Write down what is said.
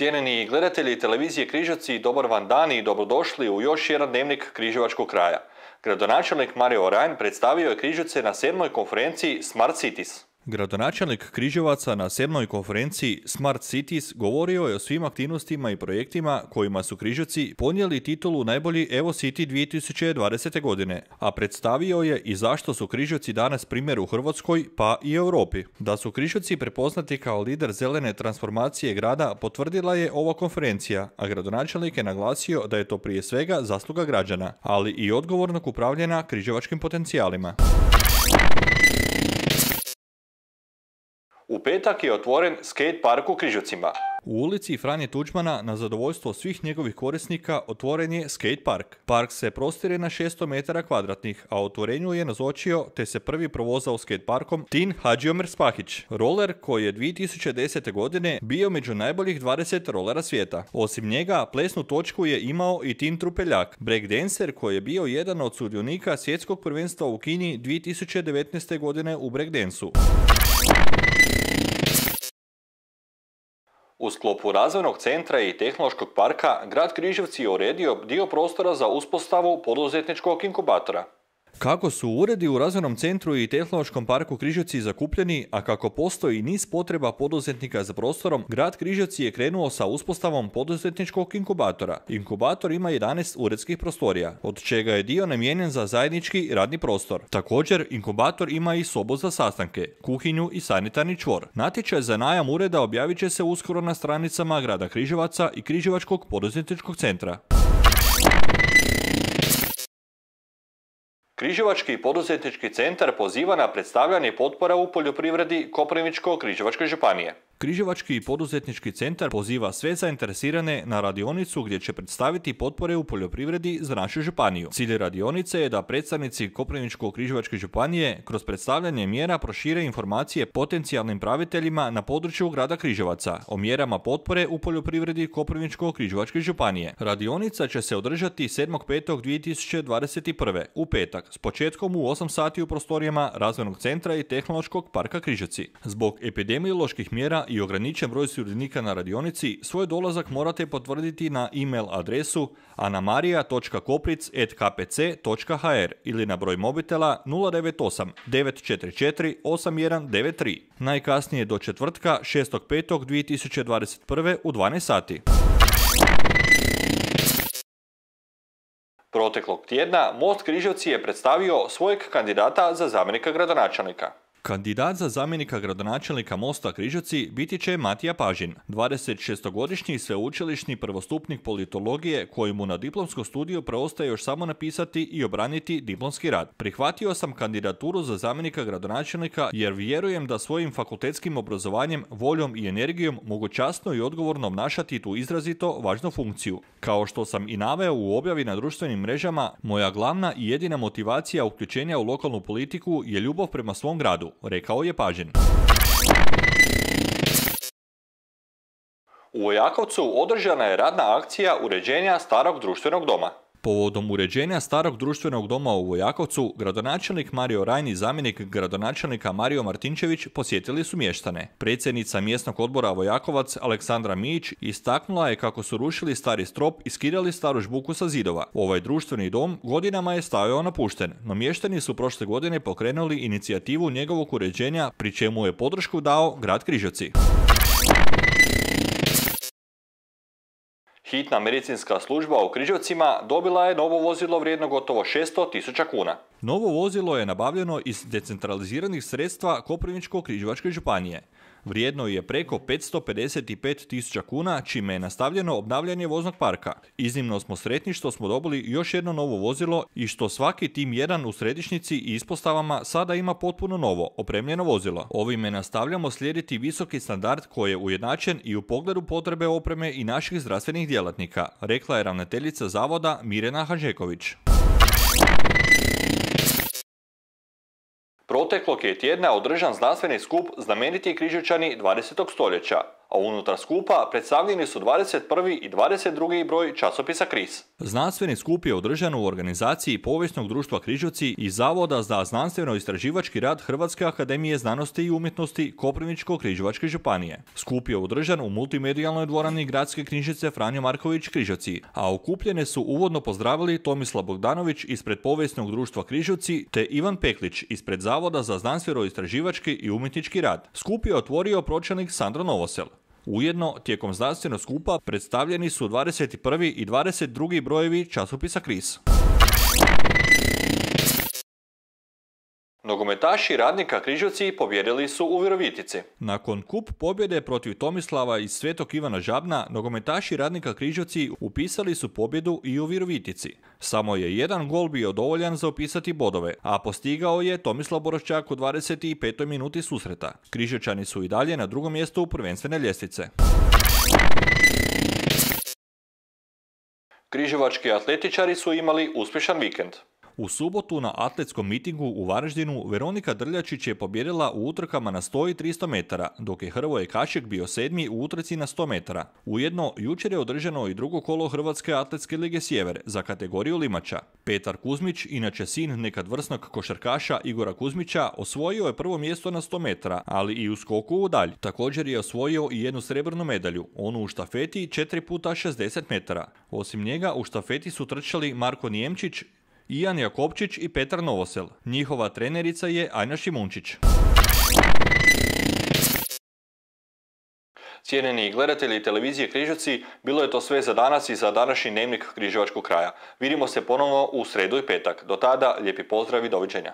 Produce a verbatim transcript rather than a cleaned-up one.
Cijenjeni gledatelji televizije Križevci, dobar vam dan i dobrodošli u još jedan dnevnik križevačkog kraja. Gradonačelnik Mario Rajn predstavio je Križevce na sedmoj konferenciji Smart Cities. Gradonačelnik Križevaca na sedmoj konferenciji Smart Cities govorio je o svim aktivnostima i projektima kojima su Križevci ponijeli titulu najbolji Evo City dvije tisuće dvadesete. godine, a predstavio je i zašto su Križevci danas primjer u Hrvatskoj pa i Europi. Da su Križevci prepoznati kao lider zelene transformacije grada potvrdila je ova konferencija, a gradonačelnik je naglasio da je to prije svega zasluga građana, ali i odgovornog upravljanja križevačkim potencijalima. U petak je otvoren skate park u Križevcima. U ulici Franje Tuđmana na zadovoljstvo svih njegovih korisnika otvoren je skate park. Park se prostire na šesto metara kvadratnih, a otvorenju je nazočio te se prvi provozao skate parkom Tin Hadžiomer Spahić, roller koji je dvije tisuće desete. godine bio među najboljih dvadeset rolera svijeta. Osim njega, plesnu točku je imao i Tin Trupeljak, breakdancer koji je bio jedan od sudionika svjetskog prvenstva u Kini dvije tisuće devetnaeste. godine u breakdancu. U sklopu razvojnog centra i tehnološkog parka, grad Križevci je uredio dio prostora za uspostavu poduzetničkog inkubatora. Kako su uredi u razvojnom centru i tehnološkom parku Križevci zakupljeni, a kako postoji niz potreba poduzetnika za prostorom, grad Križevci je krenuo sa uspostavom poduzetničkog inkubatora. Inkubator ima jedanaest uredskih prostorija, od čega je dio namijenjen za zajednički radni prostor. Također, inkubator ima i sobu za sastanke, kuhinju i sanitarni čvor. Natječaj za najam ureda objavit će se uskoro na stranicama grada Križevaca i Križevačkog poduzetničkog centra. Križevački poduzetnički centar poziva na predstavljanje potpora u poljoprivredi Koprivničko-križevačke županije. Križevački poduzetnički centar poziva sve zainteresirane na radionicu gdje će predstaviti potpore u poljoprivredi za našu županiju. Cilj radionice je da predstavnici Koprivničko-križevačke županije kroz predstavljanje mjera prošire informacije potencijalnim praviteljima na području grada Križevaca o mjerama potpore u poljoprivredi Koprivničko-križevačke županije. Radionica će se održati sedmog petog dvije tisuće dvadeset prve. u petak s početkom u osam sati u prostorijama razvojnog centra i tehnološkog parka Križevci. Zbog epidemioloških mjera i ograničen broj sudionika na radionici, svoj dolazak morate potvrditi na e-mail adresu anamarija točka kopric at k p c točka h r ili na broj mobitela nula devet osam devet četiri četiri osam jedan devet tri. Najkasnije do četvrtka šestog petog dvije tisuće dvadeset prve. u dvanaest sati. Proteklog tjedna Most Križevci je predstavio svojeg kandidata za zamjenika gradonačelnika. Kandidat za zamjenika gradonačelnika Mosta Križevci biti će Matija Pažin, dvadesetšestogodišnji sveučilišni prvostupnik politologije kojemu na diplomskom studiju preostaje još samo napisati i obraniti diplomski rad. Prihvatio sam kandidaturu za zamjenika gradonačelnika jer vjerujem da svojim fakultetskim obrazovanjem, voljom i energijom mogu časno i odgovorno obnašati tu izrazito važnu funkciju. Kao što sam i naveo u objavi na društvenim mrežama, moja glavna i jedina motivacija uključenja u lokalnu politiku je ljubav prema svom gradu, rekao je Pažin. U Vojakovcu održana je radna akcija uređenja starog društvenog doma. Povodom uređenja starog društvenog doma u Vojakovcu, gradonačelnik Mario Rajn i zamjenik gradonačelnika Mario Martinčević posjetili su mještane. Predsjednica mjesnog odbora Vojakovac Aleksandra Mijić istaknula je kako su rušili stari strop i skidali staru žbuku sa zidova. Ovaj društveni dom godinama je stajao napušten, no mještani su prošle godine pokrenuli inicijativu njegovog uređenja, pri čemu je podršku dao grad Križevci. Hitna medicinska služba u Križevcima dobila je novo vozilo vrijedno gotovo šesto tisuća kuna. Novo vozilo je nabavljeno iz decentraliziranih sredstva Koprivničko-križevačke županije. Vrijedno je preko petsto pedeset pet tisuća kuna, čime je nastavljeno obnavljanje voznog parka. Iznimno smo sretni što smo dobili još jedno novo vozilo i što svaki tim jedan u središnjici i ispostavama sada ima potpuno novo, opremljeno vozilo. Ovime nastavljamo slijediti visoki standard koji je ujednačen i u pogledu potrebe opreme i naših zdravstvenih djelatnika, rekla je ravnateljica zavoda Mirjana Hanžeković. Proteklog je tjedna održan znanstveni skup Znameniti Križevčani dvadesetog stoljeća, a unutar skupa predstavljeni su dvadeset prvi i dvadeset drugi broj časopisa Kris. Znanstveni skup je održan u organizaciji Povijesnog društva Križevci i Zavoda za znanstveno-istraživački rad Hrvatske akademije znanosti i umjetnosti Koprivničko-križevačke županije. Skup je održan u multimedijalnoj dvorani Gradske knjižnice Franjo Marković Križevci, a okupljene su uvodno pozdravili Tomislav Bogdanović ispred Povijesnog društva Križevci te Ivan Peklić ispred Zavoda za znanstveno-istraživački i umjetnički rad. Skup je otvorio pročelnik Sandro Novosel. Ujedno, tijekom znanstvenog skupa predstavljeni su dvadeset prvi i dvadeset drugi brojevi časopisa Kris. Nogometaši Radnika Križevci pobjedili su u Virovitici. Nakon kup pobjede protiv Tomislava iz Svetog Ivana Žabna, nogometaši Radnika Križevci upisali su pobjedu i u Virovitici. Samo je jedan gol bio dovoljan za upisati bodove, a postigao je Tomislav Boroščak u dvadeset petoj minuti susreta. Križevčani su i dalje na drugom mjestu prvenstvene ljestvice. Križevački atletičari su imali uspješan vikend. U subotu na atletskom mitingu u Varaždinu Veronika Drljačić je pobjedila u utrkama na sto i tristo metara, dok je Hrvoje Kašek bio sedmi u utrci na sto metara. Ujedno, jučer je održano i drugo kolo Hrvatske atletske lige Sjever za kategoriju limača. Petar Kuzmić, inače sin nekad vrsnog košarkaša Igora Kuzmića, osvojio je prvo mjesto na sto metara, ali i u skoku u dalj. Također je osvojio i jednu srebrnu medalju, onu u štafeti četiri puta šezdeset metara. Osim njega u štafeti su trčali Marko Nijemčić, Ijan Jakopčić i Petar Novosel. Njihova trenerica je Ajna Šimunčić. Cijenjeni gledatelji televizije Križevci, bilo je to sve za danas i za današnji dnevnik Križevačkog kraja. Vidimo se ponovno u sredu i petak. Do tada, lijepi pozdrav i doviđenja.